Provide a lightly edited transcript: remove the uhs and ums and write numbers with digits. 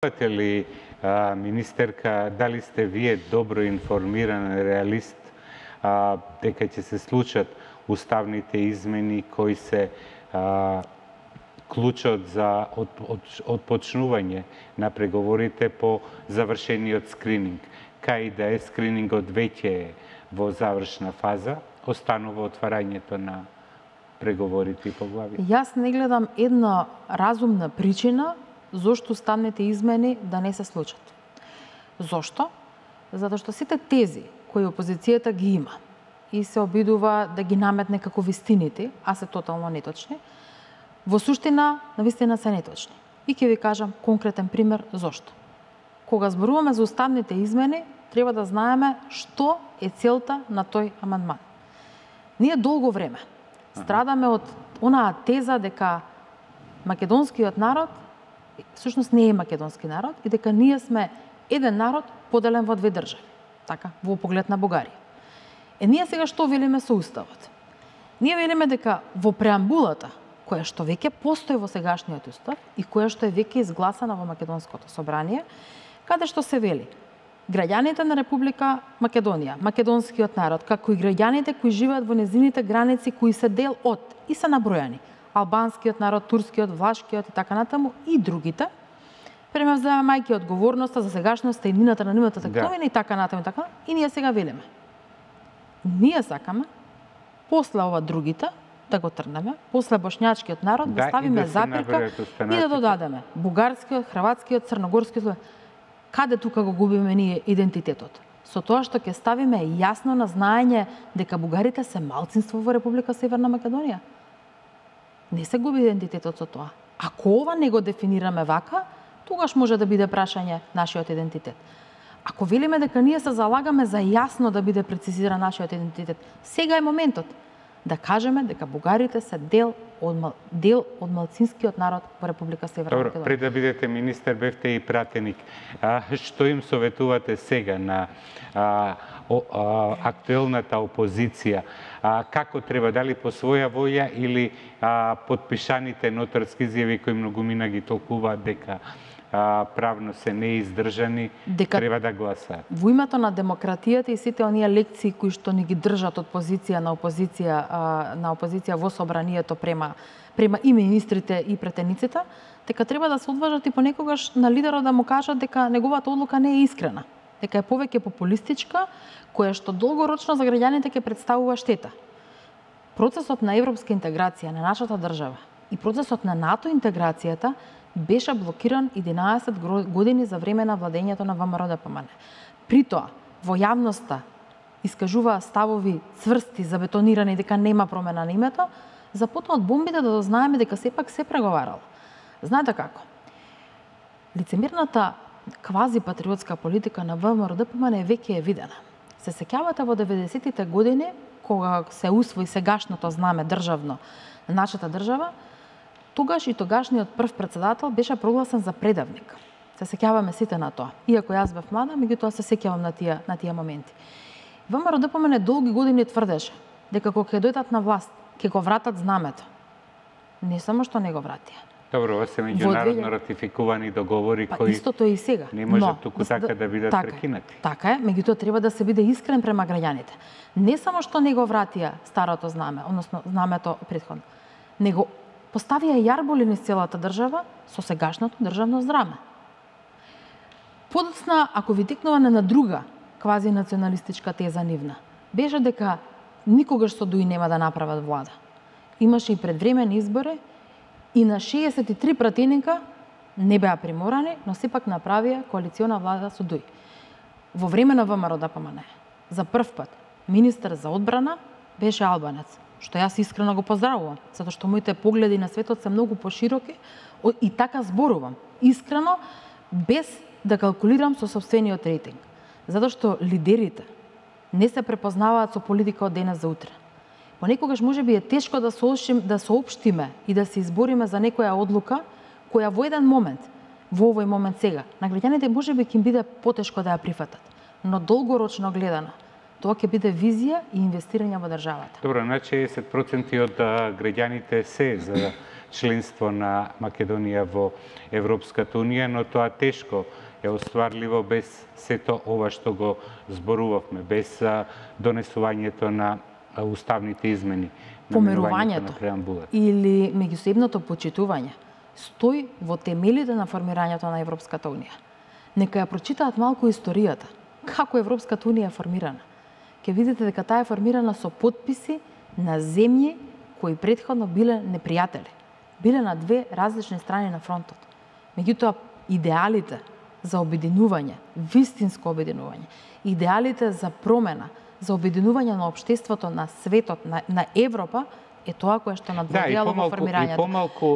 Верувате ли, министерка, дали сте вие добро информиран реалист дека ќе се случат уставните измени кои се клучот за отпочнување на преговорите по завршениот скрининг? Кај да е скринингот веќе е во завршна фаза, останува отварањето на преговорите и поглави? Јас не гледам една разумна причина зошто уставните измени да не се случат. Зошто? Затоа што сите тези кои опозицијата ги има и се обидува да ги наметне како вистините, а се тотално неточни, во суштина, навистина се неточни. И ќе ви кажам конкретен пример зошто. Кога зборуваме за уставните измени, треба да знаеме што е целта на тој амандман. Ние долго време страдаме од онаа теза дека македонскиот народ всушност не е македонски народ и дека ние сме еден народ поделен во две држави, така, во поглед на Бугарија. Ние сега што велиме со уставот? Ние велиме дека во преамбулата, која што веќе постои во сегашниот устав и која што е веќе изгласана во Македонското собрание, каде што се вели граѓаните на Република Македонија, македонскиот народ, како и граѓаните кои живеат во незините граници кои се дел од и се набројани албанскиот народ, турскиот, влашкиот и така натаму и другите, премазајќи одговорноста за сегашноста и иднината на нивната текновина и така натаму и така. И ние сега велиме. Ние сакаме после ова другите да го трнеме, после бошњачкиот народ да ставиме запирка и да додадеме бугарскиот, хрватскиот, црногорскиот. Каде тука го губиме ние идентитетот? Со тоа што ќе ставиме јасно на знаење дека бугарите се малцинство во Република Северна Македонија. Не се губи идентитетот со тоа. Ако ова не го дефинираме вака, тогаш може да биде прашање нашиот идентитет. Ако велиме дека ние се залагаме за јасно да биде прецизиран нашиот идентитет, сега е моментот да кажеме дека бугарите се дел од малцинскиот народ во Република Северна Македонија. Добро, пред да бидете министер, бевте и пратеник. Што им советувате сега на актуелната опозиција? Како треба, дали по своја воја или подпишаните нотарски изјави кои многумина ги толкуваат дека правно се неиздржани, треба да гласаат? Во името на демократијата и сите оние лекции кои што ни ги држат од позиција на опозиција во собранието према и министрите и претениците, дека треба да се одважат и понекогаш на лидерот да му кажат дека неговата одлука не е искрена, дека е повеќе популистичка, која што долгорочно за граѓаните ќе представува штета. Процесот на европска интеграција на нашата држава и процесот на НАТО интеграцијата беше блокиран 11 години за време на владењето на ВМРО-ДПМН. При тоа, во јавноста искажуваа ставови цврсти, забетонирани дека нема промена на името, започна од бомбите да дознаеме дека сепак се преговарало. Знаете како? Лицемерната квази-патриотска политика на ВМРО-ДПМН веќе е видена. Се сеќавате во 90-тите години, кога се усвои сегашното знаме државно на нашата држава, тогаш и тогашниот прв председател беше прогласен за предавник. Се сеќаваме сите на тоа. Иако јас бев млада, меѓутоа се сеќавам на тие моменти. ВМРО-ДПМН долги години тврдеше дека кога ќе дојдат на власт, ќе го вратат знамето. Не само што не го вратија. Добро, ова се меѓународно ратификувани договори кои истото е и сега. Не можат туку така да бидат прекинати. Така е, меѓутоа треба да се биде искрен према граѓаните. Не само што не го вратија старото знаме, односно знамето претходно, него поставија јарболи низ целата држава со сегашното државно знаме. Подоцна, ако ви текнуване на друга квази националистичка теза нивна, беше дека никогаш со ДУИ нема да направат влада. Имаше и предвремени избори и на 63 пратеника не беа приморани, но сепак направија коалициона влада со ДУИ. Во време на ВМРО-ДПМН за прв пат министер за одбрана беше албанец, што јас искрено го поздравувам, затоа што моите погледи на светот се многу пошироки и така зборувам, искрено, без да калкулирам со сопствениот рейтинг. Затоа што лидерите не се препознаваат со политика од денес за утре. Понекогаш можеби е тешко да соопштиме и да се избориме за некоја одлука која во еден момент, во овој момент сега, на граѓаните можеби ќе им биде потешко да ја прифатат, но долгорочно гледано, тоа ќе биде визија и инвестирање во државата. Добро, на 60% од граѓаните се за членство на Македонија во Европската Унија, но тоа тешко е остварливо без сето ова што го зборувавме, без донесувањето на уставните измени, Померувањето на преамбулата. или меѓусебното почитување стои во темелите на формирањето на Европската Унија. Нека ја прочитаат малку историјата. Како Европската Унија е формирана? Ќе видите дека таа е формирана со потписи на земји кои претходно биле непријатели. Биле на две различни страни на фронтот. Меѓутоа, идеалите за обединување, вистинско обединување, идеалите за промена, за обединување на општеството, на светот, на Европа, е тоа кое што надводјало во формирањето. И помалку